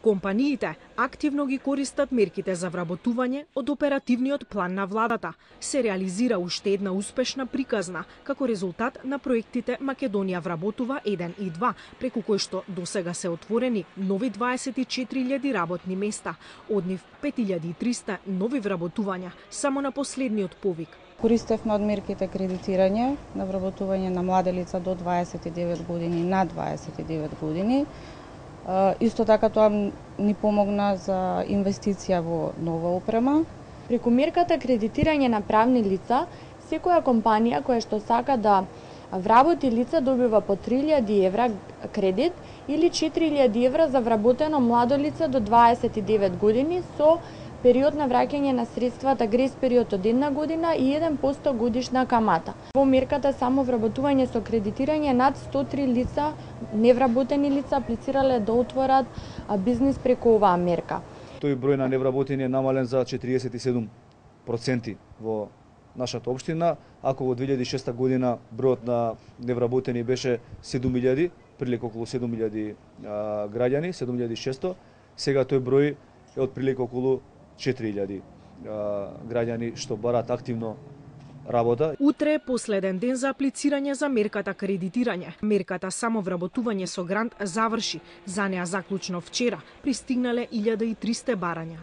Компаниите активно ги користат мерките за вработување од оперативниот план на владата. Се реализира уште една успешна приказна како резултат на проектите Македонија вработува 1 и 2, преку кои што досега се отворени нови 24.000 работни места, од нив 5.300 нови вработувања само на последниот повик. Користевме од мерките кредитирање на вработување на млади лица до 29 години на 29 години. Исто така тоа ни помогна за инвестиција во нова опрема. Преку мерката кредитирање на правни лица, секоја компанија која што сака да вработи лица добива по 3.000 евра кредит или 4.000 евра за вработено младо лице до 29 години со период на враќање на средствата грейс период од 1 година и 1% годишна камата. Во мерката само вработување со кредитирање над 103 лица, невработени лица, аплицирале да отворат бизнис преку оваа мерка. Тој број на невработени е намален за 47% во нашата општина, ако во 2006 година бројот на невработени беше 7.000, прилика околу 7.000 граѓани, 7.600, сега тој број е отприлика околу 4.000 граѓани што бараат активно работа. Утре е последен ден за аплицирање за мерката кредитирање. Мерката само вработување со грант заврши. За неа заклучно вчера пристигнале 1300 барања.